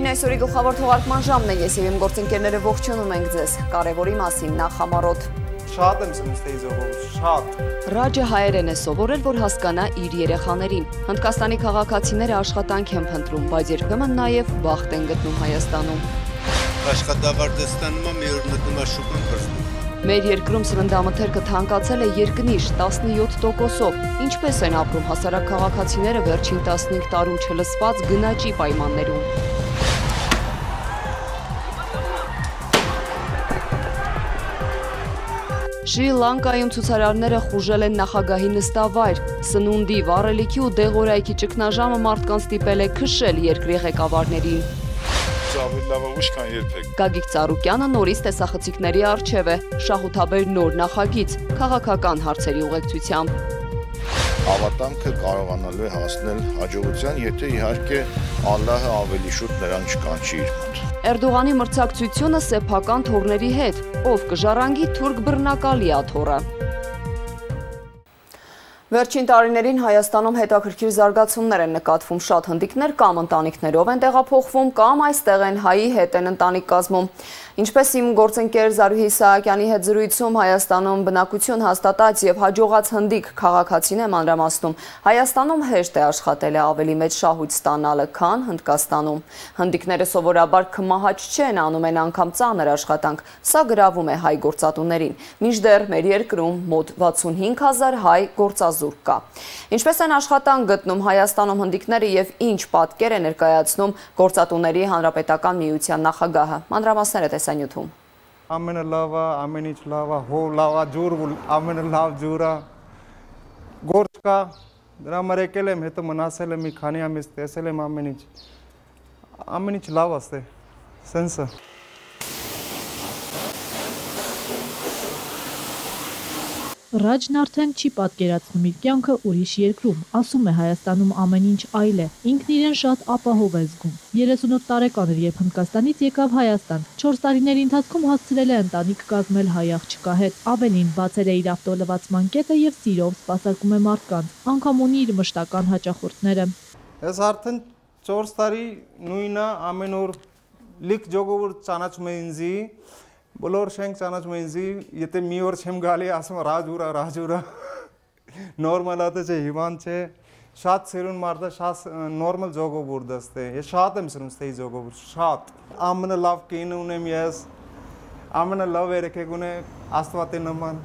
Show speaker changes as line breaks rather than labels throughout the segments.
Բարև այսօրի գլխավոր թողարկման ժամն է, ես եւ իմ գործընկերները ողջունում ենք ձեզ։ Կարևորի մասին նախամարոտ։
Շատ եմ սնուստեի զողով, շատ։
Ռաջը հայերեն է սովորել, որ հասկանա իր երեխաներին։ Հնդկաստանի քաղաքացիները աշխատանք են փնտրում, բայց երբեմն նաև բախտ են գտնում Հայաստանում։
Աշխատավարձստանում մի օր մտնում է շուկան փրկում։
Մեր երկրում սննդամթերքը թանկացել է երկնիշ 17%-ով։ Ինչպես են ապրում հասարակ քաղաքացիները վերջին 15 տարում չլսված գնաճի պայմաններում։ Շրի Լանկայում ցուցարարները խուժել են նախագահի նստավայր։ Սնունդի, վառելիքի ու դեղորայքի ճգնաժամը մարդկանց ստիպել է քշել երկրի ղեկավարներին։
Ավելի լավ ուշ կան երբեք։
Գագիկ Ծառուկյանը նորից տեսախցիկների առջև է, շահութաբեր նոր նախագիծ, քաղաքական հարցերի ուղեկցությամբ։
Հավատամքը կարողանալու է հասնել հաջողության, եթե իհարկե Ալլահը ավելի շուտ նրան չկանչի իր մոտ։
Էրդողանի մրցակցությունը սեփական թոռների հետ, ով կժառանգի թուրք բռնակալի աթոռը։ Վերջին տարիներին Հայաստանում հետաքրքիր զարգացումներ են նկատվում, շատ հնդիկներ կամ ընտանիքներով են տեղափոխվում, կամ այստեղ են հայի հետ են ընտանիք կազմում։ Ինչպես իմ գործընկեր Զարուհի Իսահակյանի հետ զրույցում Հայաստանում բնակություն հաստատած եւ հաջողած հնդիկ քաղաքացին է մանրամասնում, Հայաստանում հեշտ է աշխատել ավելի մեծ շահույթ ստանալը, քան Հնդկաստանում։ Հնդիկները սովորաբար քմահաճ չեն, անում են անգամ ծանր աշխատանք, սա գրավում է հայ գործատուներին։ Մինչդեռ մեր երկրում մոտ 65,000 հայ գործազուրկ կա։ Ինչպես են աշխատանք գտնում Հայաստանում հնդիկները եւ ինչ պատկեր է ներկայացնում գործատուների հանրապետական միության նախագահը։ Մանրամասները տեսանյութում։
Ամենալավը, ամեն ինչ լավը, հող լավը, ջուր, ամենալավ ջուրը, գործ կա, դրա համար եկել եմ, հետո մնացել եմ մի քանի ամիս, տեսել եմ ամեն ինչ լավ է, սենսը։
Ռաջն արդեն չի պատկերացնում իր կյանքը ուրիշ երկրում, ասում է Հայաստանում ամեն ինչ այլ է, ինքն իրեն շատ ապահով է զգում։ 38 տարեկան էր, երբ Հնդկաստանից եկավ Հայաստան, 4 տարիների ընթացքում հասցրել է ընտանիք կազմել հայ աղջկա հետ, ավելին բացել է իր ավտոլվացման կետը եւ սիրով սպասարկում է մարդկանց, անգամ ունի իր մշտական հաճախորդները։
Ես արդեն 4 տարի նույնը ամեն օր լիք ժողովուրդ ճանաչում է ինձ, բոլոր շենք ճանաչում է ինձ, եթե մի օր չեմ գալի, ասում ռաջուրա, նորմալ է չէ, հիվան չէ, շատ սիրուն մարդը, շատ նորմալ ժողովուրդ է, ես շատ եմ սիրում ստեի ժողովուրդ, շատ, ամենալավ կինը ունեմ ես, ամենալավ երեքեք ունեմ, Աստվածի նման,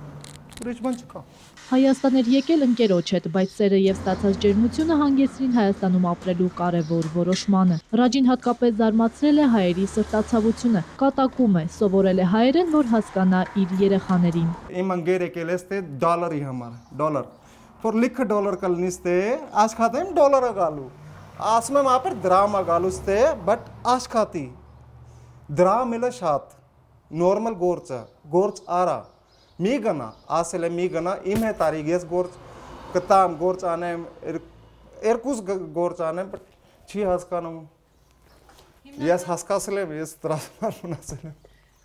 ուրիշ բան չկա։
Հայաստան էր եկել ընկերոջ հետ, բայց սերը եւ ստացած ջերմությունը հանգեցրին Հայաստանում ապրելու կարևոր որոշմանը։ Ռաջին հատկապես զարմացրել է հայերի սրտացավությունը, կատակում է, սովորել է հայերեն, որ հասկանա իր երեխաներին։
Իմ ընկեր եկել է դոլարի համար, դոլար։ Որ լիքը դոլար կլինի աշխատեմ դոլարը գալու։ Ասում եմ ապեր դրամա գալու բայց աշխատի։ Դրամ էլ է շատ, նորմալ գործ արա։ Մի գնա, ասել եմ մի գնա, իմ հետ արի, ես գործ կտամ, գործ անեմ, երկուս գործ անեմ, չի հասկանում, ես հասկացել եմ, ես տրասմար մնացել եմ։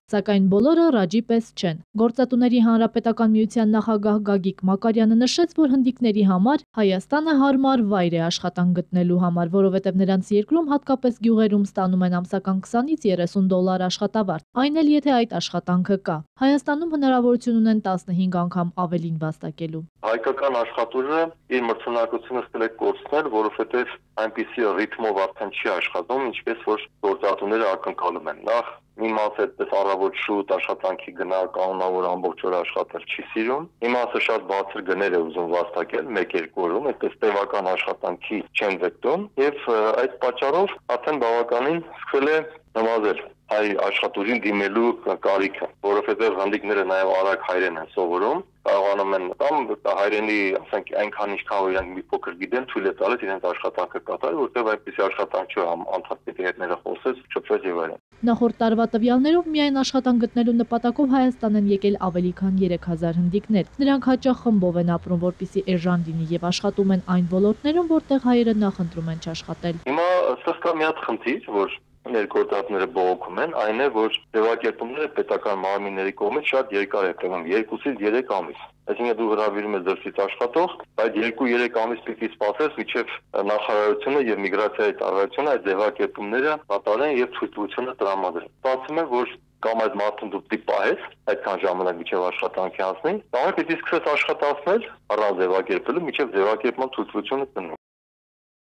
Սակայն բոլորը Ռաջի պես չեն։ Գործատուների հանրապետական միության նախագահ Գագիկ Մակարյանը նշեց, որ հնդիկների համար Հայաստանը հարմար վայր է աշխատանք գտնելու համար, որովհետև նրանց երկրում հատկապես գյուղերում ստանում են ամսական 20-ից 30 դոլար աշխատավարձ, այն էլ եթե այդ աշխատանքը կա։ Հայաստանում հնարավորություն ունեն 15 անգամ ավելին վաստակելու։
Հայկական աշխատուժը իր մրցունակությունը ստել է կորցնել, որովհետև այնպիսի ռիթմով արդեն չի աշխատում, ինչպես որ գործատուները ակնկալում են։ Նախ մի մասը այդպես առավոտ շուտ աշխատանքի գնա, կանոնավոր ամբողջ օր աշխատել չի սիրում։ Մի մասը շատ բարձր գներ է ուզում վաստակել 1-2 օրում, այդպես տևական աշխատանքի չեն ձգտում եւ այդ պատճառով արդեն բավականին սկսել է նվազել հայ աշխատուժին դիմելու կարիքը, որովհետև հնդիկները նաև արագ հայերեն են սովորում, կարողանում են կամ հայերենի, ասենք, այնքան ինչքան որ իրենք մի փոքր գիտեն, թույլ է տալիս իրենց աշխատանքը կատարել, որտեղ այդպիսի աշխատանք չէ, անդադար հետ խոսես, շփվես եւ այլն։
Նախորդ տարվա տվյալներով միայն աշխատանք գտնելու նպատակով Հայաստան են եկել ավելի քան 3000 հնդիկներ։ Նրանք հաճախ խմբով են ապրում, որպեսզի էժան լինի եւ աշխատում են այն ոլորտներում, որտեղ հայերը նախընտրում են չաշխատել։
Հիմա սա կա մի հատ խնդիր, որ ներգործատները բողոքում են, այն է, որ ձևակերպումները պետական մարմինների կողմից շատ երկար է տևում, 2-ից 3 ամիս։ Այսինքն դու հրավիրում ես դրսից աշխատող, այդ 2-3 ամիս պիտի սպասես, մինչև նախարարությունը եւ միգրացիայի ծառայությունը այդ ձևակերպումները կատարեն եւ ցույցությունը տրամադրեն։ Ստացվում է, որ կամ այդ մարդուն դու պիտի պահես այդքան ժամանակ մինչև աշխատանքի հասնի, կամ պիտի սկսես աշխատացնել առանց ձևակերպելու, մինչև ձևակերպման ցույցությունը տնի։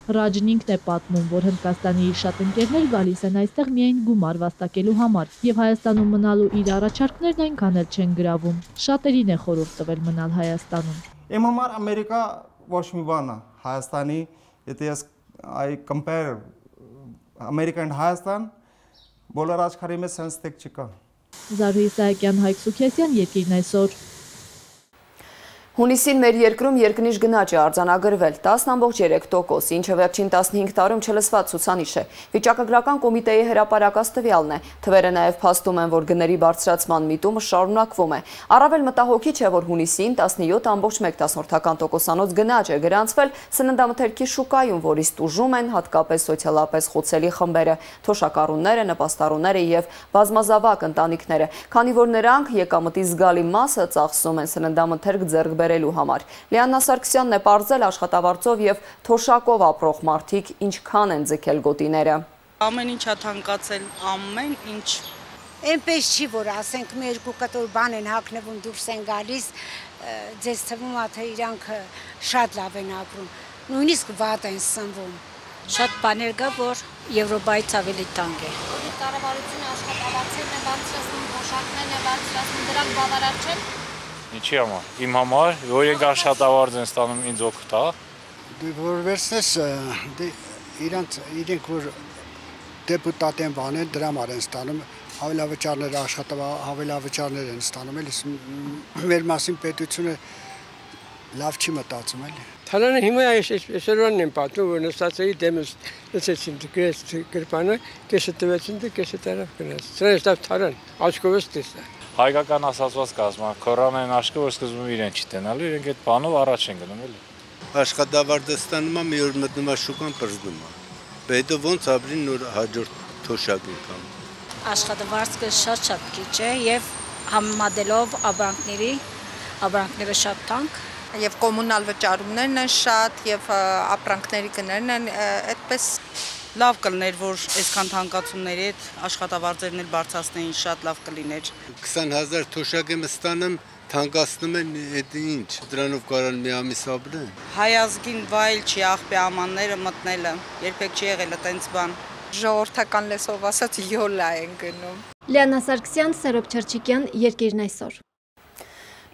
Ռաջն ինքն է պատմում, որ Հնդկաստանի իր շատ ընկերներ գալիս են այստեղ միայն գումար վաստակելու համար եւ Հայաստանում մնալու իր առաջարկներն այնքան էլ չեն գրավում։ Շատերին է խորհուրդ տվել մնալ Հայաստանում։
Իմ համար Ամերիկա ոչ մի բան է, Հայաստանի, եթե ես I compare America and Հայաստան, բոլոր աշխարհի մեջ sense տեք չկա։
Զարուհի Սահակյան, Հայկ Սուքեսյան, Երկիրն այսօր։
Հունիսին մեր երկրում երկնիշ գնաճ է արձանագրվել 10.3%, ինչը վերջին 15 տարում չլսված ցուցանիշ է։ Վիճակագրական կոմիտեի հրապարակած տվյալն է։ Թվերը նաև փաստում են, որ գների բարձրացման միտումը շարունակվում է։ Առավել մտահոգիչ է, որ հունիսին 17.1%-անոց գնաճ է գրանցվել սննդամթերքի շուկայում, որից տուժում են հատկապես սոցիալապես խոցելի խմբերը, թոշակառուները, նպաստառուները եւ բազմազավակ ընտանիքները, քանի որ նրանք եկամտի զգալի մասը ծախսում են սննդամթերք ձեռք բերելու համար։ Լիաննա Սարգսյանն է պարզել աշխատավարձով եւ թոշակով ապրող մարդիկ ինչքան են ձգել գոտիները։
Ամեն ինչ է թանկացել, ամեն ինչ։
Այնպես չի, որ ասենք մի երկու կտոր բան են հագնվում, դուրս են գալիս, ձեզ թվում է, թե իրանք շատ լավ են ապրում, նույնիսկ վատ են սնվում։ Շատ բաներ կա, որ Եվրոպայից ավելի տանկ է։
Կառավարությունը աշխատավարձերն է բարձրացնում, թոշակներն է բարձրացնում, դրանք բավարար չեն։
Ինչի համար։ Իմ համար, որ ենք աշխատավարձ են ստանում ինձ օգուտ, հա։
Դու որ վերցնես իրենք որ դեպուտատ են բանեն դրա համար են ստանում, հավելավճարներ հավելավճարներ են ստանում, էլի մեր մասին պետությունը լավ չի մտածում, էլի։
Թալանը հիմա այսօրն են պատմում, որ նստածեի դեմս լսեցին գրպանը, կեսը տվեցին դե կեսը տարավ գնաց։ Սրանց դավ թալան, աչքովս տեսա։
Հայկական ասացված կազմա, քորան են աշկը, որ սկզբում իրեն չի տենալու, իրենք այդ բանով առաջ են գնում, էլի։
Աշխատավարձը ստանում է, մի օր մտնում է շուկան պրզնում է։ Հետո ոնց ապրին նոր հաջորդ թոշակ եկան։
Աշխատավարձը շատ քիչ է եւ համեմատելով ապրանքները շատ թանկ
Եվ կոմունալ վճարումներն են շատ, եւ ապրանքների գներն են, այդպես լավ կլներ, որ այսքան թանկացումների հետ աշխատավարձերն էլ բարձրացնեին, շատ լավ կլիներ։
20,000 թոշակ եմ ստանում, թանկացնում են, այդ ինչ, դրանով կարան մի ամիս ապրեն։
Հայ ազգին վայել չի աղբի ամանները մտնելը, երբեք չի եղել այդպես բան։ Ժողովրդական լեզվով ասած յոլա են գնում։
Լիաննա Սարգսյան, Սերոբ Չերչիկյան, Երկիրն այսօր։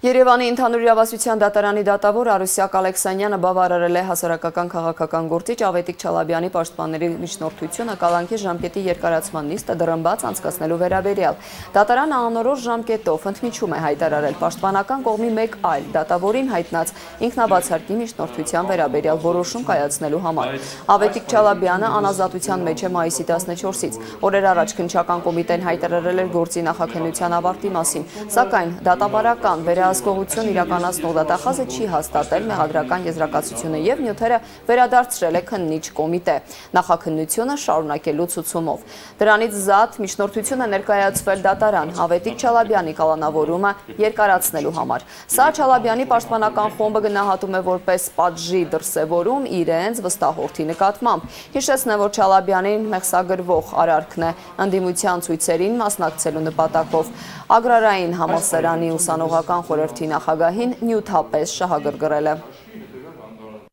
Երևանի ընդհանուր իրավասության դատարանի դատավոր Արուսյակ Ալեքսանյանը բավարարել է հասարակական քաղաքական գործիչ Ավետիք Չալաբյանի պաշտպանների միջնորդությունը կալանքի ժամկետի երկարացման նիստը դռնբաց անցկացնելու վերաբերյալ։ Դատարանը անորոշ ժամկետով ընդմիջում է հայտարարել պաշտպանական կողմի մեկ այլ դատավորին հայտնած ինքնաբացարկի միջնորդության վերաբերյալ որոշում կայացնելու համար։ Ավետիք Չալաբյանը անազատության մեջ է մայիսի 14-ից։ Օրեր առաջ քննչական կոմիտեն հայտարարել էր գործի նախաքննության ավարտի մասին, սակայն դատաբարական Ասկողություն իրականացնող դատախազը չի հաստատել մեղադրական եզրակացությունը եւ նյութերը վերադարձրել է քննիչ կոմիտե նախաքննությունը շարունակելու ցուցումով։ Դրանից զատ միջնորդությունը ներկայացվել դատարան Ավետիք Չալաբյանի կալանավորումը երկարացնելու համար։ Սա Չալաբյանի պաշտպանական խումբը գնահատում է որպես պատժի դրսևորում իրենց վստահորդի նկատմամբ։ Հիշեցնեմ, որ Չալաբյանին մեղսագրվող արարքն է ընդդիմության ցույցերին մասնակցելու նպատակով Ագրարային համալսարանի ուսանողական խորհրդի նախագահին նյութապես շահագրգռել է։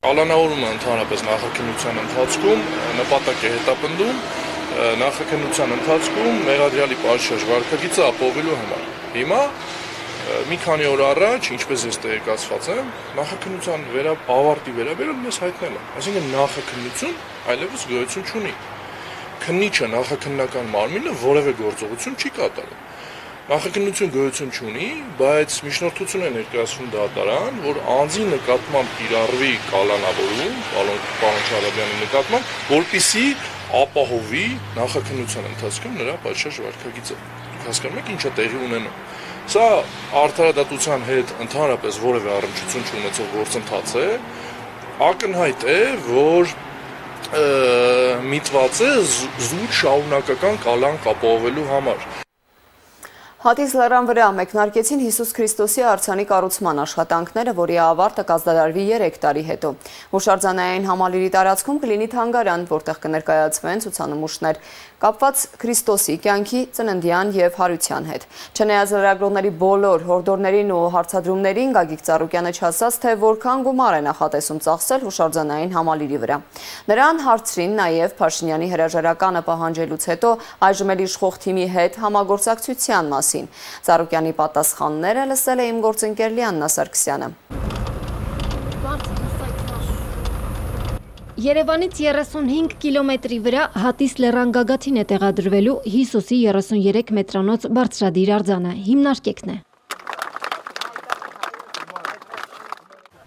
Կալանավորումը ընդհանրապես նախաքննության ընթացքում նպատակ է հետապնդում նախաքննության ընթացքում մեղադրյալի պատշաճ վարքագիծը ապահովելու համար։ Հիմա մի քանի օր առաջ, ինչպես ես տեղեկացված եմ, նախաքննության ավարտի վերաբերյալ մեզ հայտնել է։ Այսինքն նախաքննություն այլևս գոյություն չունի։ Քննիչը նախաքննական մարմինը որևէ գործողություն չի կատարում։ Նախաքննություն գոյություն չունի, բայց միջնորդություն է ներկայացվում դատարան, որ անձի նկատմամբ կիրառվի կալանավորում, պարոն Չալաբյանի նկատմամբ, որպեսզի ապահովի նախաքննության ընթացքում նրա պատշաճ վարքագիծը։ Դուք հասկանում եք ինչ է տեղի ունենում։ Սա արդարադատության հետ ընդհանրապես որևէ առնչություն չունեցող գործընթաց է, ակնհայտ է, որ միտված է զուտ շարունակական կալանք ապահովելու համար։
Հատիս լեռան վրա մեկնարկեցին Հիսուս Քրիստոսի արձանի կառուցման աշխատանքները, որի ավարտը կազմակերպվի 3 տարի հետո։ Հուշարձանային համալիրի տարածքում կլինի թանգարան, որտեղ կներկայացվեն ցուցանմուշներ կապված Քրիստոսի կյանքի, ծննդյան եւ հարության հետ։ Չնայած լրագրողների բոլոր հորդորներին ու հարցադրումներին, Գագիկ Ծառուկյանը չասաց, թե որքան գումար է նախատեսում ծախսել հուշարձանային համալիրի վրա։ Նրան հարցրին նաեւ Փաշինյանի հրաժարականը պահանջելուց հետո այժմ էլ իշխող թիմի հետ համագործակցության մասին։ Ծառուկյանի պատասխանները լսել է իմ գործընկեր Լիաննա Սարգսյանը։
Երևանից 35 կիլոմետրի վրա Հատիս լեռան գագաթին է տեղադրվելու Հիսուսի 33 մետրանոց բարձրադիր արձանը, հիմնարկեքն է։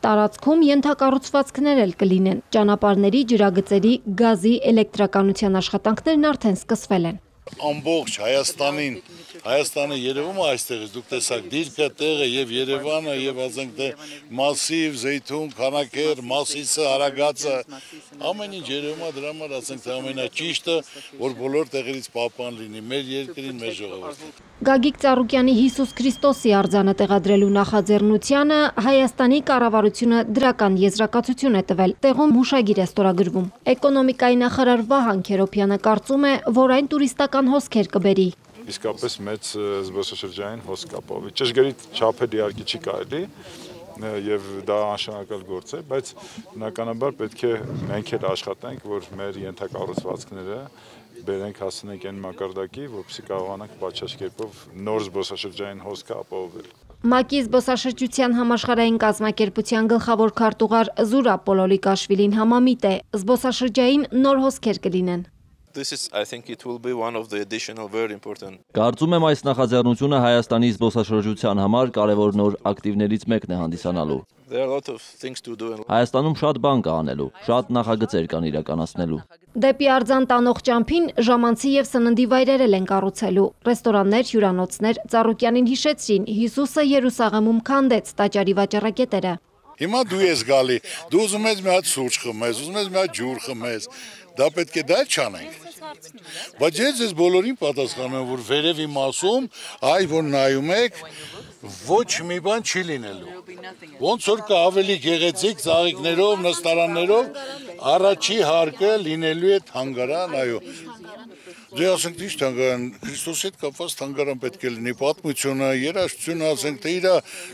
Տարածքում ենթակառուցվածքներ էլ կլինեն, ճանապարհների, ջրագծերի, գազի, էլեկտրականության աշխատանքներն արդեն սկսվել են։
Ամբողջ Հայաստանը երևում է այստեղից, դուք տեսաք դիրքը, տեղը եւ Երևանը եւ ասենք թե Մասիվ, Զեյթուն, Քանաքեր, Մասիսը, Արագածը, ամեն ինչ երևում է, դրա համար ասենք թե ամենաճիշտը, որ բոլոր տեղերից պահպան լինի մեր երկրին, մեր ժողովրդին։
Գագիկ Ծառուկյանի Հիսուս Քրիստոսի արձանը տեղադրելու նախաձեռնությանը Հայաստանի կառավարությունը դրական եզրակացություն է տվել, տեղում հուշագիր է ստորագրվում։ Էկոնոմիկայի նախարար Վահան Քերոբյանը կարծում է, որ այն տուրիստական հոսքեր կբերի։
Իսկապես մեծ զբոսաշրջային հոսք կապահովի։ Ճշգրիտ չափեր իհարկե չի կարելի եւ դա անշանակալ գործ է, բայց բնականաբար պետք է մենք էլ աշխատենք, որ մեր ենթակառուցվածքները բերենք հասնենք այն մակարդակի, որպեսզի կարողանանք պատշաճ կերպով նոր զբոսաշրջային հոսք ապահովել։
ՄԱԿ-ի զբոսաշրջության համաշխարհային կազմակերպության գլխավոր քարտուղար Զուրա Պոլոլիկաշվիլին համամիտ է, զբոսաշրջային նոր հոսքեր կլինեն։
Կարծում եմ այս նախաձեռնությունը Հայաստանի զբոսաշրջության համար կարևոր նոր ակտիվներից մեկն է հանդիսանալու։ Հայաստանում շատ բան կա անելու, շատ նախագծեր կան իրականացնելու։
Դեպի արձան տանող ճամփին ժամանցի եւ սննդի վայրեր են կառուցելու։ Ռեստորաններ, հյուրանոցներ, Ծառուկյանին հիշեցրին, Հիսուսը Երուսաղեմում քանդեց տաճարի վաճառակետերը։
Հիմա դու ես գալի, դու ուզում ես մի հատ սուրճ խմես, ուզում ես մի հատ ջուր խմես, դա պետք է դա չանենք։ Բայց ես բոլորին պատասխանում եմ, որ վերևի մասում, այ որ նայում եք, ոչ մի բան չի լինելու։ Ոնց որ կա ավելի գեղեցիկ ծաղիկներով, նստարաններով, առաջի հարկը լինելու է թանգարան, այո։ Դե ասենք թե թանգարան, Քրիստոսի հետ կապված թանգարան պետք է լինի, պատմությունը, երաժշտությունը, ասենք թե իր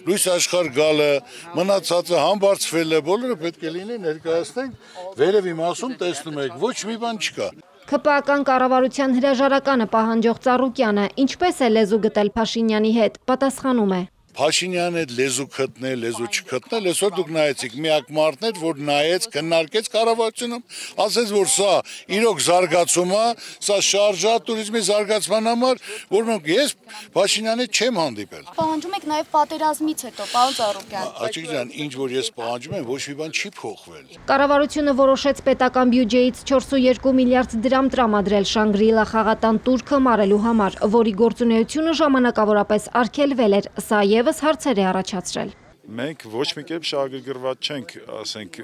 լույս աշխարհ գալը, մնացածը համբարձվելը, բոլորը պետք է լինի, ներկայացնենք, վերևի մասում տեսնում եք, ոչ մի բան չկա։
ՔՊԱ-կան կառավարության հրաժարականը պահանջող Ծառուկյանը ինչպես է լեզու գտել Փաշինյանի հետ, պատասխանում է։
Փաշինյանի հետ լեզու գտնել, լեզու չգտնել, այսօր դուք նայեցիք միակ մարդն էր, որ նայեց, քննարկեց կառավարությունում, ասեց, որ սա իրոք զարգացում է, սա շարժա туриզմի զարգացման համար, որ մենք ես Փաշինյանի չեմ հանդիպել։
Պահանջում եք նաև պատերազմից հետո, պարոն Ծառուկյան։
Աջիկ ջան, ինչ որ ես պահանջում եմ, ոչ մի բան չի փոխվել։
Կառավարությունը որոշեց պետական բյուջեից 4.2 միլիարդ դրամ տրամադրել Շանգրիլա խաղատան տուրքը մարելու համար, որի գործունեությունը ժամանակավորապես արգելվել էր, սա եւս հարցեր է առաջացրել։
Մենք ոչ մի կերպ շահագրգռված չենք, ասենք,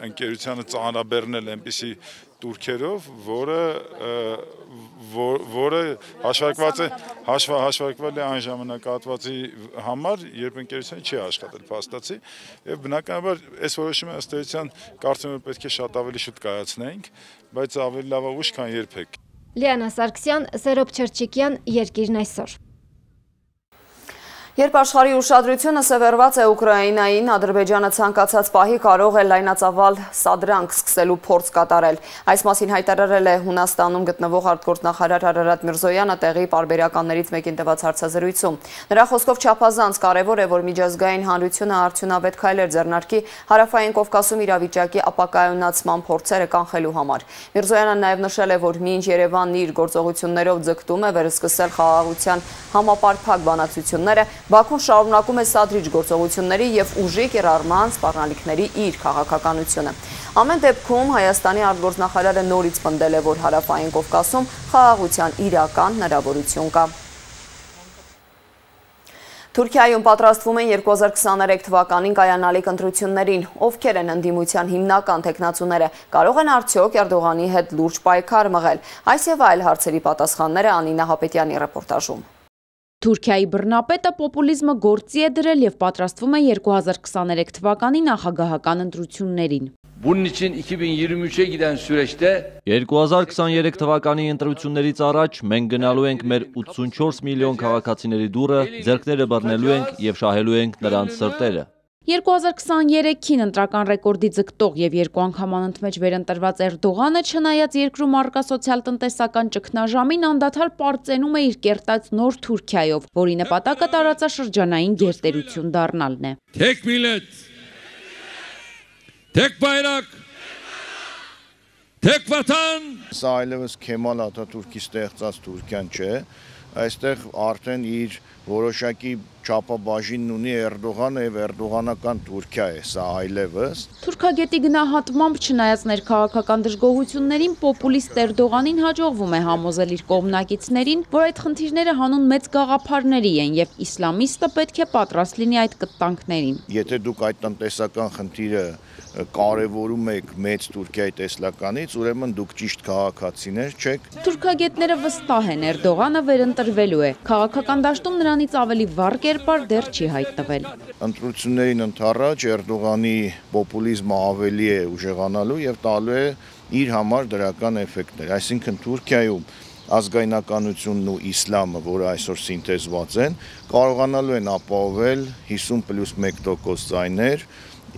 ընկերությանը ծանրաբեռնել այնպիսի տուրքերով, որը հաշվարկվել է այն ժամանակահատվածի համար, երբ ընկերությունը չի աշխատել, փաստացի, եւ բնականաբար այս որոշումը ըստ էության կարծում եմ պետք է շատ ավելի շուտ կայացնենք, բայց ավելի լավ ուշ, քան երբեք։
Լիանա Սարգսյան, Սերոբ Չերչիկյան, Երկիրն այսօր։
Երբ աշխարհի ուշադրությունը սևեռված է Ուկրաինային, Ադրբեջանը ցանկացած պահի կարող է լայնածավալ սադրանք սկսելու փորձ կատարել։ Այս մասին հայտարարել է Հունաստանում գտնվող արտգործնախարար Արարատ Միրզոյանը տեղի պարբերականներից մեկին տված հարցազրույցում։ Նրա խոսքով չափազանց կարևոր է, որ միջազգային հանրությունը արդյունավետ քայլեր ձեռնարկի Հարավային Կովկասում իրավիճակի ապակայունացման փորձերը կանխելու համար։ Միրզոյանը նաև նշել է, որ մինչ Երևանն իր գործողություններով ձգտում է վերսկսել խաղաղության համապարփակ բանակցությունները, Բաքուն շարունակում է սադրիչ գործողությունների և ուժի կիրառման սպառնալիքների իր քաղաքականությունը։ Ամեն դեպքում Հայաստանի արտգործնախարարը նորից պնդել է, որ Հարավային Կովկասում խաղաղության իրական հնարավորություն կա։ Թուրքիայում պատրաստվում են 2023 թվականին կայանալիք ընտրություններին, ովքեր են ընդդիմության հիմնական թեկնածուները, կարող են արդյոք Էրդողանի հետ լուրջ պայքար մղել։ Այս եւ այլ հարցերի պատասխանները Անինա Հապետյանի ռեպորտաժում։
Թուրքիայի բռնապետը պոպուլիզմը գործի է դրել եւ պատրաստվում է 2023 թվականի նախագահական ընտրություններին։
Bunun için 2023'e giden süreçte
2023 թվականի ընտրություններից առաջ մենք գնալու ենք մեր 84 միլիոն քաղաքացիների դուռը, ձեռքները բռնելու ենք եւ շահելու ենք նրանց սրտերը։
2023-ին ընտրական ռեկորդի ձգտող եւ երկու անգամ անընդմեջ վերընտրված Էրդողանը, չնայած երկրում առկա սոցիալ-տնտեսական ճգնաժամին, անդադար պարծենում է իր կերտած նոր Թուրքիայով, որի նպատակը տարածաշրջանային գերտերություն դառնալն է։
Tek millet, tek bayrak, tek vatan.
Սա այլևս Քեմալ Աթաթուրքի ստեղծած Թուրքիան չէ, այստեղ արդեն իր որոշակի չափաբաժինն ունի Էրդողանը եւ էրդողանական Թուրքիա է, սա այլևս։
Թուրքագետի գնահատմամբ, չնայած ներքաղաքական դժգոհություններին, պոպուլիստ Էրդողանին հաջողվում է համոզել իր կողմնակիցներին, որ այդ խնդիրները հանուն մեծ գաղափարների են եւ իսլամիստը պետք է պատրաստ լինի այդ կտանքներին։
Եթե դուք այդ տնտեսական խնդիրը կարևորում եք մեծ Թուրքիայի տեսլականից, ուրեմն դուք ճիշտ քաղաքացիներ չեք։
Թուրքագետները վստահ են, Էրդողանը վերընտրվելու է։ Քաղաքական դաշտում նրանից ավելի վառ կերպար դեռ չի հայտնվել։
Ընտրություններին ընդառաջ Էրդողանի պոպուլիզմը ավելի է ուժեղանալու եւ տալու է իր համար դրական էֆեկտներ։ Այսինքն Թուրքիայում ազգայնականությունն ու իսլամը, որը այսօր սինթեզված են, կարողանալու են ապահովել 50+1% ձայներ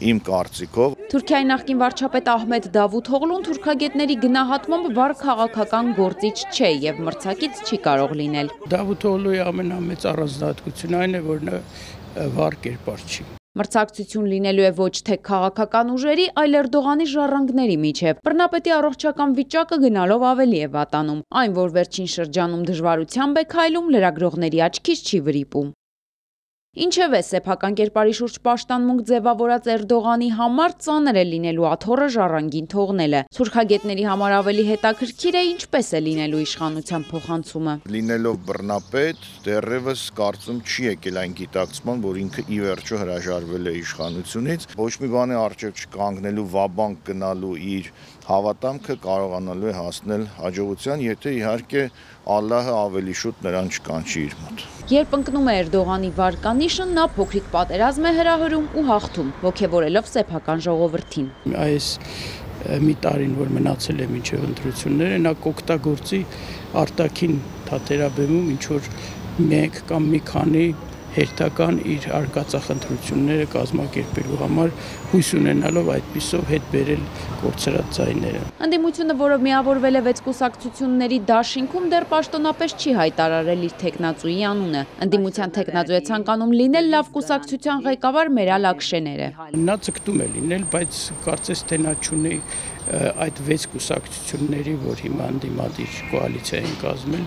իմ կարծիքով։
Թուրքիայի նախկին վարչապետ Ահմեդ Դավութօղլուն թուրքագետների գնահատմամբ վառ քաղաքական գործիչ չէ եւ մրցակից չի կարող լինել։
Դավութօղլուի ամենամեծ առանձնահատկությունը այն է, որ նա վառ կերպար չի։
Մրցակցություն լինելու է ոչ թե քաղաքական ուժերի, այլ Էրդողանի ժառանգների միջև։ Բռնապետի առողջական վիճակը գնալով ավելի է վատանում։ Այն, որ վերջին շրջանում դժվարությամբ է քայլում, լրագրողների աչքից չի վրիպում։ Ինչևէ, սեփական կերպարի շուրջ պաշտամունք ձևավորած Էրդողանի համար ծանր է լինելու աթոռը ժառանգին թողնելը։ Թուրքագետների համար ավելի հետաքրքիր է ինչպես է լինելու իշխանության փոխանցումը։
Լինելով բռնապետ, դեռևս կարծում չի եկել այն գիտակցման, որ ինքը ի վերջո հրաժարվել է իշխանությունից, ոչ մի բանի առջև չկանգնելու, վաբանկ գնալու իր հավատամքը կարողանալու է հասնել հաջողության, եթե իհարկե Ալլահը ավելի շուտ նրան չկանչի իր մոտ։
Երբ ընկնում է Էրդողանի վարկանիշը, նա փոքրիկ պատերազմ է հրահրում ու հաղթում, ոգևորելով սեփական ժողովրդին։
Այս մի տարին, որ մնացել է մինչև ընտրությունները, նա կօգտագործի արտաքին թատերաբեմում ինչ որ մեկ կամ մի քանի հերթական իր արկածախնդրությունները կազմակերպելու համար հույս ունենալով այդպիսով հետ բերել կորցրած ձայները։
Ընդդիմությունը, որը միավորվել է 6 կուսակցությունների դաշինքում, դեռ պաշտոնապես չի հայտարարել իր թեկնածուի անունը։ Ընդդիմության թեկնածու է ցանկանում լինել լավ կուսակցության ղեկավար Մերալ Ակշեները։
Նա ցկտում է լինել, բայց կարծես թե նա չունի այդ 6 կուսակցությունների, որ հիմա ընդդիմադիր կոալիցիա են կազմել,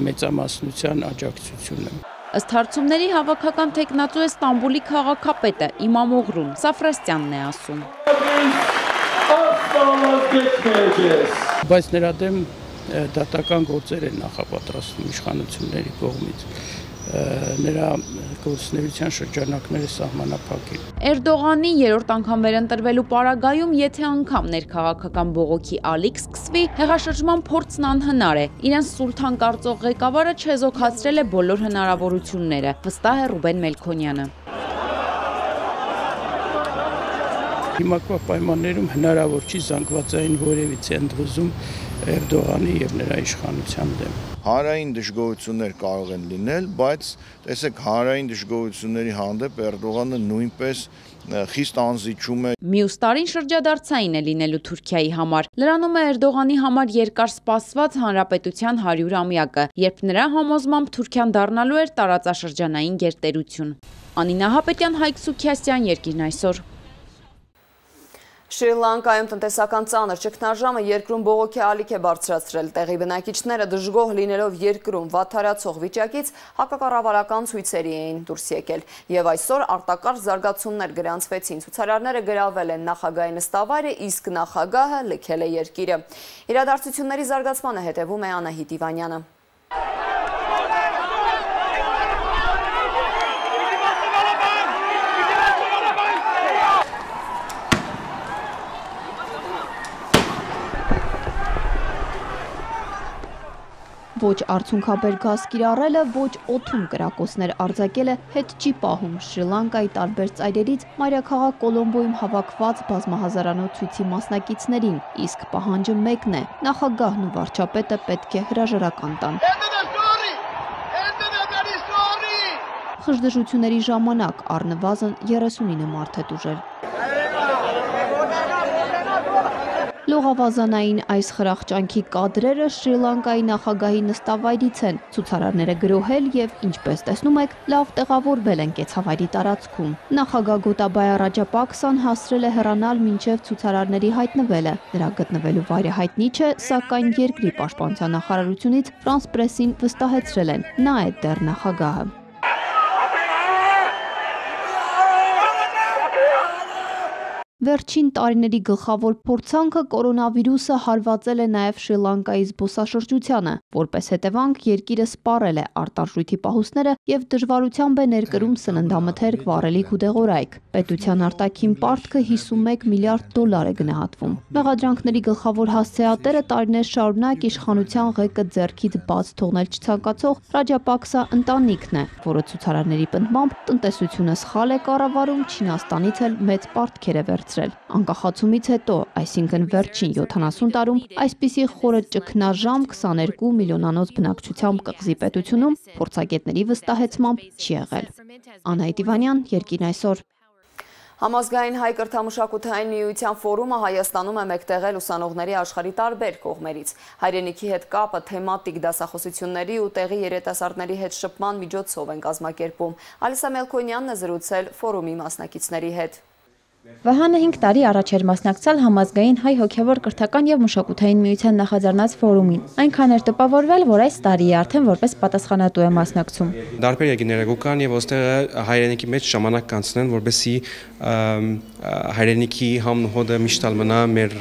մեծամասնության աջակցությունը։
Ըստ հարցումների հավաքական թեկնածու է Ստամբուլի քաղաքապետը Իմամ Օղրուն Սաֆրաստյանն է ասում։
Բայց նրա դեմ դատական գործեր են նախապատրաստվում իշխանությունների կողմից։ Նրա գործունեության շրջանակները սահմանափակել։
Էրդողանի երրորդ անգամ վերընտրվելու պարագայում, եթե անգամ ներքաղաքական բողոքի ալիք սկսվի, հեղաշրջման փորձն անհնար է։ Իրենց սուլթան կարծող ղեկավարը չեզոքացրել է բոլոր հնարավորությունները, վստահ է Ռուբեն Մելքոնյանը։
Հիմակվա պայմաններում հնարավոր չի զանգվածային որևիցե ընդվզում Էրդողանի եւ նրա իշխանության դեմ։
Հանրային դժգոհություններ կարող են լինել, բայց տեսեք, հանրային դժգոհությունների հանդեպ Էրդողանը նույնպես խիստ անզիջում է։
Մյուս տարին շրջադարձային է լինելու Թուրքիայի համար։ Լրանում է Էրդողանի համար երկար սպասված հանրապետության 100-ամյակը, երբ նրա համոզմամբ Թուրքիան դառնալու էր տարածաշրջանային գերտերություն։ Անինա Հապետյան, Հայկ Սուքիասյան, Երկիրն այսօր։
Շրի Լանկայում տնտեսական ծանր ճգնաժամը երկրում բողոքի ալիք է բարձրացրել։ Տեղի բնակիչները դժգոհ լինելով երկրում վատթարացող վիճակից հակակառավարական ցույցերի էին դուրս եկել։ Եվ այսօր արտակարգ զարգացումներ գրանցվեցին։ Ցուցարարները գրավել են նախագահի նստավայրը, իսկ նախագահը լքել է երկիրը։ Իրադարձությունների զարգացմանը հետևում է Անահիտ Իվանյանը։
ոչ արդյունքաբեր գազ կիրառելը, ոչ օդում կրակոցներ արձակելը հետ չի պահում Շրի Լանկայի տարբեր ծայրերից մայրաքաղաք Կոլոմբոյում հավաքված բազմահազարանոց ցույցի մասնակիցներին, իսկ պահանջը մեկն է՝ նախագահն ու վարչապետը պետք է հրաժարական տան։ Խժդժությունների ժամանակ առնվազն 39 մարդ է տուժել։ Լողավազանային այս խրախճանքի կադրերը Շրի Լանկայի նախագահի նստավայրից են, ցուցարարները գրոհել եւ, ինչպես տեսնում եք, լավ տեղավորվել են կեցավայրի տարածքում։ Նախագահ Գոտաբայա Ռաջապաքսան հասրել է հեռանալ մինչև ցուցարարների հայտնվելը։ Նրա գտնվելու վայրը հայտնի չէ, սակայն երկրի պաշտպանության նախարարությունից Ֆրանս պրեսին վստահեցրել են՝ նա է դեռ նախագահը։ Վերջին տարիների գլխավոր փորձանքը կորոնավիրուսը հարվածել է նաև Շրի Լանկայի զբոսաշրջությանը, որպես հետևանք երկիրը սպառել է արտարժույթի պահուստները եւ դժվարությամբ է ներկրում սննդամթերք, վառելիք ու դեղորայք։ Պետության արտաքին պարտքը 51 միլիարդ դոլար է գնահատվում։ Մեղադրանքների գլխավոր հասցեատերը տարիներ շարունակ իշխանության ղեկը ձեռքից բաց թողնել չցանկացող Ռաջապաքսա ընտանիքն է, որը ցուցարարների պնդմամբ տնտեսությունը սխալ է կառավարում, Չինաստանից էլ մեծ պարտքեր է վերցրել։ Անկախացումից հետո, այսինքն վերջին 70 տարում, այսպիսի խորը ճգնաժամ 22 միլիոնանոց բնակչությամբ կղզի պետությունում փորձագետների վստահեցմամբ չի եղել։ Անահիտ Իվանյան, Երկիրն այսօր։
Համազգային հայ կրթամշակութային միության ֆորումը Հայաստանում է մեկտեղել ուսանողների աշխարհի տարբեր կողմերից։ Հայրենիքի հետ կապը թեմատիկ դասախոսությունների ու տեղի երիտասարդների հետ շփման միջոցով են կազմակերպում։ Ալիսա Մելքոնյանն է զրուցել ֆորումի մասնակիցների հետ։
Վահանը 5 տարի առաջ էր մասնակցել Համազգային հայ հոգևոր կրթական եւ մշակութային միության նախաձեռնած ֆորումին։ Այնքան էր տպավորվել, որ այս տարի արդեն որպես պատասխանատու է մասնակցում։
Դարբեր եկիները գուկան եւ ոստեղ հայրենիքի մեջ ժամանակ կանցնեն, որպեսզի հայրենիքի համնոհոդը միշտ մնա մեր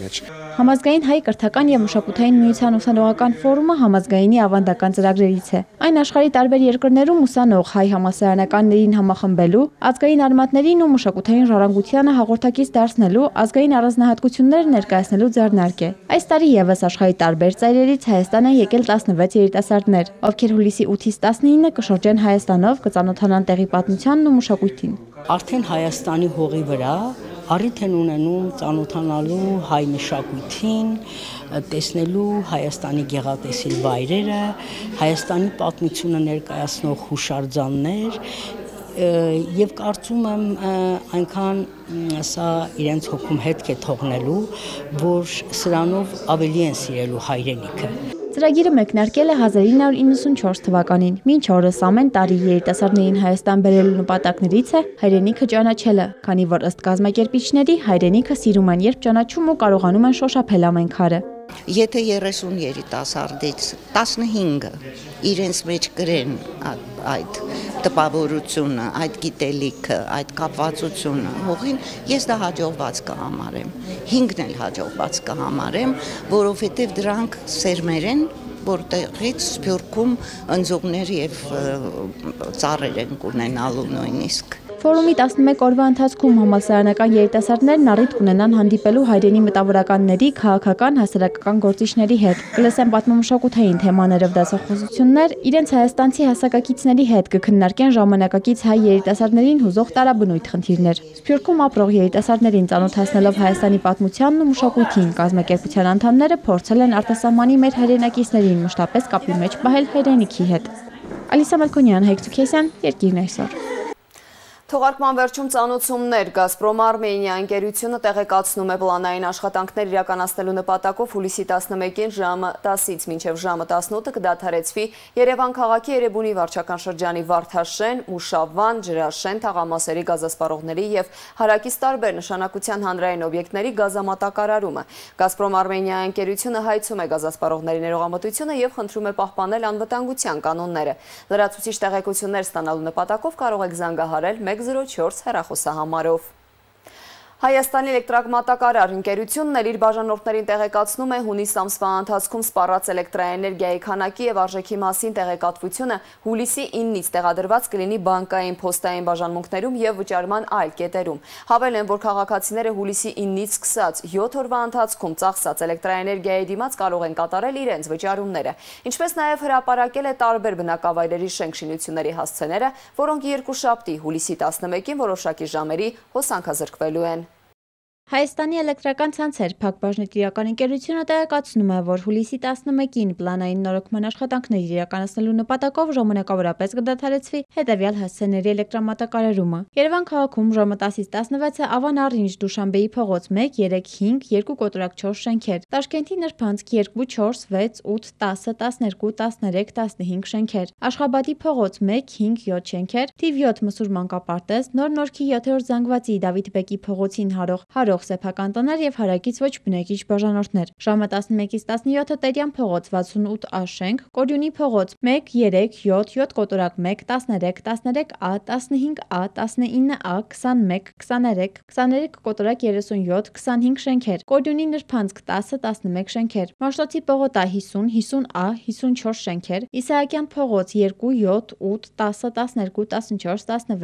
մեջ։
Համազգային հայ կրթական եւ մշակութային միության ուսանողական ֆորումը համազգայինի ավանդական ծրագրերից է։ Այն աշխարհի տարբեր երկրներում ուսանող հայ համալսարանականներին համախմբելու, ազգային արմատներին ու մշակութային ժառանգությանը հաղորդակից դարձնելու, ազգային առանձնահատկությունները ներկայացնելու ձեռնարկ է։ Այս տարի եւս աշխարհի տարբեր ծայրերից Հայաստան են եկել 16 երիտասարդներ, ովքեր հուլիսի 8-ից 19-ը կշրջեն Հայաստանով, կծանոթանան տեղի պատմությանն ու մշակույթին։
Արդեն Հայաստանի հողի վրա առիթ են ունենում ծանոթանալու հայ մշակույթին, տեսնելու Հայաստանի գեղատեսիլ վայրերը, Հայաստանի պատմությունը ներկայացնող հուշարձաններ եւ կարծում եմ այնքան սա իրենց հոգում հետք է թողնելու, որ սրանով ավելի են սիրելու հայրենիքը։
Ծրագիրը մեկնարկել է 1994 թվականին։ Մինչ օրս ամեն տարի երիտասարդներին Հայաստան բերելու նպատակներից է հայրենիքը ճանաչելը, քանի որ ըստ կազմակերպիչների հայրենիքը սիրում են, երբ ճանաչում ու կարողանում են շոշափել ամեն քարը։
Եթե 30 երիտասարդից 15-ը իրենց մեջ կրեն այդ տպավորությունը, այդ գիտելիքը, այդ կապվածությունը հողին, ես դա հաջողված կհամարեմ։ 5-ն էլ հաջողված կհամարեմ, որովհետև դրանք սերմեր են, որտեղից Սփյուռքում ընձուղներ եւ ծառեր են ունենալու նույնիսկ։
Ֆորումի 11 օրվա ընթացքում համալսարանական երիտասարդներն առիթ կունենան հանդիպելու հայրենի մտավորականների, քաղաքական, հասարակական գործիչների հետ, կլսեն պատմամշակութային թեմաներով դասախոսություններ, իրենց հայաստանցի հասակակիցների հետ կքննարկեն ժամանակակից հայ երիտասարդներին հուզող տարաբնույթ խնդիրներ։ Սփյուռքում ապրող երիտասարդներին ծանոթացնելով Հայաստանի պատմությանն ու մշակույթին, կազմակերպության անդամները փորձել են արտասահմանի մեր հայրենակիցներին մշտապես կապի մեջ պահել հայրենիքի հետ։ Ալիսա Մելքոնյան, Հայկ Ցուքեսյան, Երկիրն այսօր։
Թողարկման վերջում ծանոթություններ Գազպրոմ Արմենիա ընկերությունը տեղեկացնում է պլանային աշխատանքներ իրականացնելու նպատակով հուլիսի 11-ին ժամը 10-ից մինչև ժամը 18-ը կդադարեցվի Երևան քաղաքի Երևանի վարչական շրջանի Վարդաշեն, Մուշավան, Ջրաշեն, Թաղամասերի գազասպառողների եւ հարակից տարբեր նշանակության հանրային օբյեկտների գազամատակարարումը։ Գազպրոմ Արմենիա ընկերությունը հայցում է գազասպառողների ներողամտությունը եւ խնդրում է պահպանել անվտանգության կանոնները։ Լրացուցիչ տեղեկություններ ստանալու նպատակով կարող եք զանգահարել 104 հեռախոսահամարով։ Հայաստանի էլեկտրամատակարար ընկերությունն իր բաժանորդներին տեղեկացնում է հունիս ամսվա ընթացքում սպառած էլեկտրաէներգիայի քանակի եւ արժեքի մասին տեղեկատվությունը հուլիսի 9-ից տեղադրված կլինի բանկային, փոստային բաժանմունքներում եւ վճարման այլ կետերում։ Հավելեն, որ քաղաքացիները հուլիսի 9-ից սկսած 7 օրվա ընթացքում ծախսած էլեկտրաէներգիայի դիմաց կարող են կատարել իրենց վճարումները, ինչպես նաեւ հրապարակել է տարբեր բնակավայրերի շենքշինությունների հասցեները, որոնք երկուշաբթի հուլիսի 11-ին որոշակի ժամերի հոսանքազրկվելու են։
Հայաստանի էլեկտրական ցանցեր ՓԱԿ բաժնետիրական ընկերությունը տեղեկացնում է, որ հուլիսի 11-ին պլանային նորոգման աշխատանքներ իրականացնելու նպատակով ժամանակավորապես կդադարեցվի հետևյալ հասցեների էլեկտրամատակարարումը։ Երևան քաղաքում ժամը 10-ից 16-ը Ավան Առինջ Դուշանբեի փողոց 1, 3, 5, 2 կոտրակ 4 շենքեր, Տաշկենտի Նրբանցք 2, 4, 6, 8, 10, 12, 13, 15 շենքեր, Աշխաբադի փողոց 1, 5, 7 շենքեր, թիվ 7 Մսուր Մանկապարտեզ, Նոր Նորքի 7-րդ Զանգվածի Դավիթ Բեկի փողոցին հարող սեփական տներ եւ հարակից ոչ բնակիչ բաժանորդներ։ Ժամը 11-ից 17-ը Տերյան փողոց 68A շենք, Կորյունի փողոց 1, 3, 7, 7 կոտրակ 1, 13, 13A, 15A, 19A, 21, 23, 23 կոտրակ 37, 25 շենքեր, Կորյունի Նրբանցք 10, 11 շենքեր, Մաշտոցի պողոտա 50, 50A, 54 շենքեր, Իսահակյան փողոց 2, 7, 8, 10, 12, 14, 16,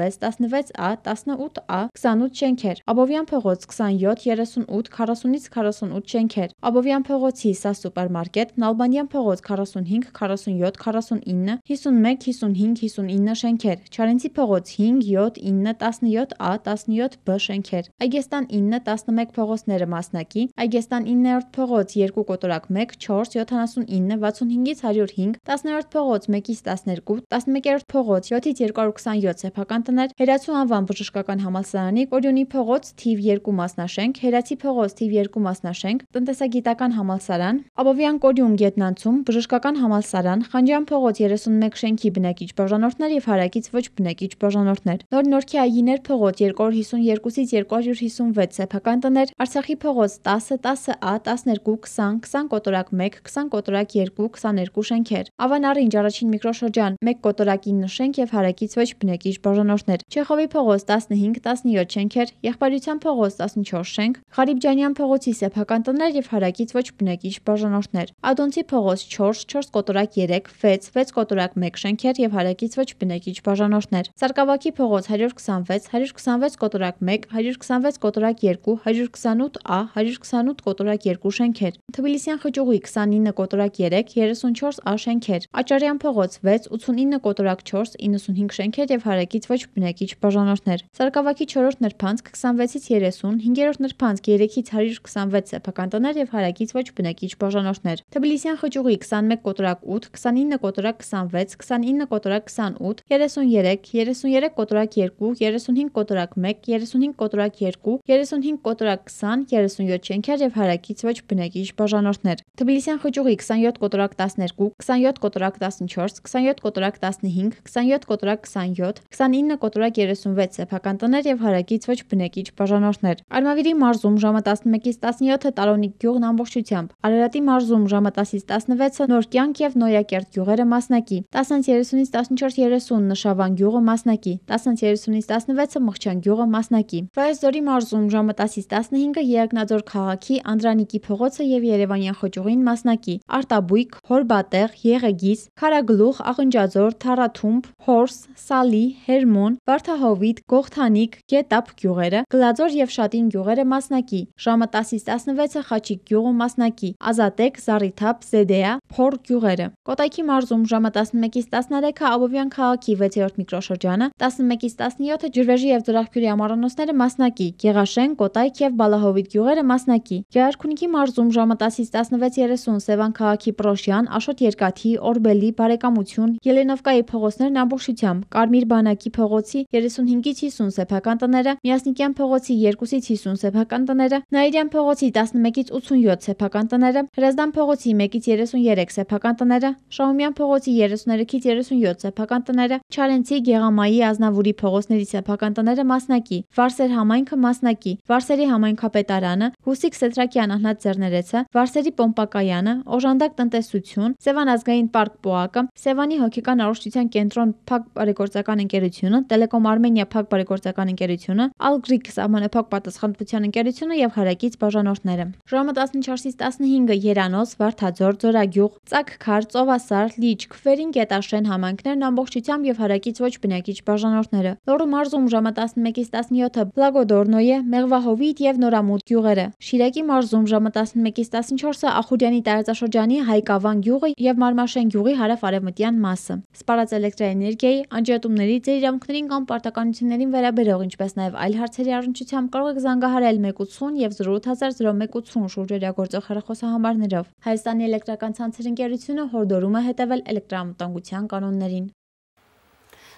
16A, 18A, 28 շենքեր, Աբովյան փողոց 27, 38, 40-ից 48 շենքեր, Աբովյան փողոցի Սա սուպերմարկետ, Նալբանդյան փողոց 45, 47, 49, 51, 55, 59 շենքեր, Չարենցի փողոց 5, 7, 9, 17A, 17B շենքեր, Այգեստան 9, 11 փողոցները մասնակի, Այգեստան 9-րդ փողոց 2 կոտրակ 1, 4, 79, 65-ից 105, 10-րդ փողոց 1-ից 12, 11-րդ փողոց 7-ից 227 սեփական տներ, Հերացու անվան բժշկական համալսարանի Կորյունի փողոց թիվ 2 մասնաշենք, Հերացի փողոց թիվ 2 մասնաշենք, Տնտեսագիտական համալսարան, Աբովյան Կորյուն Գետնանցում բժշկական համալսարան, Խանջյան փողոց 31 շենքի բնակիչ բաժանորդներ եւ հարակից ոչ բնակիչ բաժանորդներ, Նոր Նորքի Այգիներ փողոց 252-ից 256 սեփական տներ, Արցախի փողոց 10, 10A, 12, 20, 20 կոտրակ 1, 20 կոտրակ 2, 22 շենքեր, Ավան Առինջ առաջին միկրոշրջան 1 կոտրակ 9 շենք եւ հարակից ոչ բնակիչ բաժանորդներ, Չեխովի փողոց 15, 17 շենքեր, Եղբայրության փողոց 14 շենք, Ղարիբջանյան փողոցի սեփական տներ եւ հարակից ոչ բնակիչ բաժանորդներ, Ադոնցի փողոց 4, 4 կոտրակ 3, 6, 6 կոտրակ 1 շենքեր եւ հարակից ոչ բնակիչ բաժանորդներ, Սարգսակի փողոց 126, 126 կոտրակ 1, 126 կոտրակ 2, 128A, 128 կոտրակ 2 շենքեր, Թբիլիսյան խճուղի 29 կոտրակ 3, 34A շենքեր, Աճարյան փողոց 6, 89 կոտրակ 4, 95 շենքեր եւ հարակից ոչ բնակիչ բաժանորդներ, Սարգսակի 4-րդ Նրբանցք 26-ից 30, 5-րդ Նրբանցք 3-ից 126 սեփական տներ եւ հարակից ոչ բնակիչ բաժանորդներ, Թբիլիսյան խճուղի 21 կոտրակ 8, 29 կոտրակ 26, 29 կոտրակ 28, 33, 33 կոտրակ 2, 35 կոտրակ 1, 35 կոտրակ 2, 35 կոտրակ 20, 37 շենքեր եւ հարակից ոչ բնակիչ բաժանորդներ, Թբիլիսյան խճուղի 27 կոտրակ 12, 27 կոտրակ 14, 27 կոտրակ 15, 27 կոտրակ 27, 29 կոտրակ 36 սեփական տներ եւ հարակից ոչ բնակիչ բաժանորդներ, Արմավիրի մարզում ժամը 11-ից 17-ը Տարոնիկ գյուղն ամբողջությամբ, Արարատի մարզում ժամը 10-ից 16-ը Նորկյանք եւ Նոյակերտ գյուղերը մասնակի, 10-30-ից 14:30 Նշավան գյուղը մասնակի, 10-30-ից 16-ը Մղչյան գյուղը մասնակի, Վայոց-Ձորի մարզում ժամը 10-ից 15-ը Երակնաձոր քաղաքի Անդրանիկի փողոցը եւ Երևանյան խճուղին մասնակի, Արտաբույք, Հորբատեղ, Եղեգիս, Քարագլուխ, Աղնջաձոր, Թարաթումբ, Հորս, Սալի, Հերմոն, Վարդահովիտ, Գողթանիկ, Գետապ գյուղերը, Գլաձոր եւ Շատին գյուղերը մասնակի, ժամը 10-ից 16-ը Խաչիկ գյուղը մասնակի, Ազատեք, Զառիթափ, Զեդեա, Փոր գյուղերը, Կոտայքի մարզում ժամը 11-ից 13-ը Աբովյան քաղաքի 6-րդ միկրոշրջանը, 11-ից 17-ը Ջրվեժի եւ Ձորախփյուրի ամառանոցները մասնակի, Գեղաշեն, Կոտայք եւ Բալահովիտ գյուղերը մասնակի, Գեղարքունիքի մարզում ժամը 10-ից 16:30 Սևան քաղաքի Պրոշյան, Աշոտ Երկաթի, Օրբելի, Բարեկամություն, Ելենովկայի փողոցներն ամբողջությամբ, Կարմիր բանակի փողոցի 35-ից 50 սեփական տները, Միասնիկյան փողոցի 2-ից 50 սեփական տները, Նաիրյան փողոցի 11-ից 87 սեփական տները, Հրազդան փողոցի 1-ից 33 սեփական տները, Շահումյան փողոցի 33-ից 37 սեփական տները, Չարենցի, Գեղամայի, Ազնավուրի փողոցների սեփական տները մասնակի, Վարսեր համայնքը մասնակի, Վարսերի համայնքապետարանը, Հուսիկ Սետրակյան Ահնատ Ձեռներեցը, Վարսերի Պոմպակայանը, Օժանդակ տնտեսություն, Սևան ազգային պարկ Պոակը, Սևանի հոգեկան առողջության կենտրոն ՓԱԿ բարեգործական ընկերությունը, Տելեկոմ Արմենիա ՓԱԿ բարեգործական ընկերությունը, Ալգրիկ սահմանափակ պատասխանատվություն լրատվության ընկերությունը եւ հարակից բաժանորդները։ Ժամը 14-15 Երանոց, Վարդաձոր, Ձորագյուղ, Ծակքար, Ծովասար, Լիճք, Վերին Գետաշեն համայնքներն ամբողջությամբ եւ հարակից ոչ բնակիչ բաժանորդները։ Լոռու մարզում ժամը 11-17 Բլագոդորնոյե, Մեղվահովիտ եւ Նորամուտ գյուղերը։ Շիրակի մարզում ժամը 11-14 Ախուրյանի տարածաշրջանի Հայկավան գյուղը եւ Մարմաշեն գյուղի հարավ-արևմտյան մասը։ Սպառած էլեկտրաէներգիայի, անջատումների, ձեր իրավունքներին կամ պարտականություններին վերաբերող, ինչպես նաեւ այլ հարցերի առնչությամբ կարող եք զանգահարել 180 եւ 0800180 շուրջօրյա գործող հեռախոսահամարներով։ Հայաստանի էլեկտրական ցանցերի ընկերությունը հորդորում է հետևել էլեկտրամտանգության կանոններին։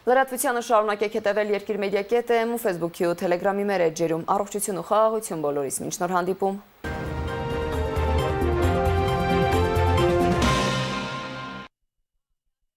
Լրատվությանը շարունակեք հետևել Երկիր մեդիա.am ու Facebook-ի ու Telegram-ի մեր էջերում։ Առողջություն ու խաղաղություն բոլորիս, մինչ նոր հանդիպում։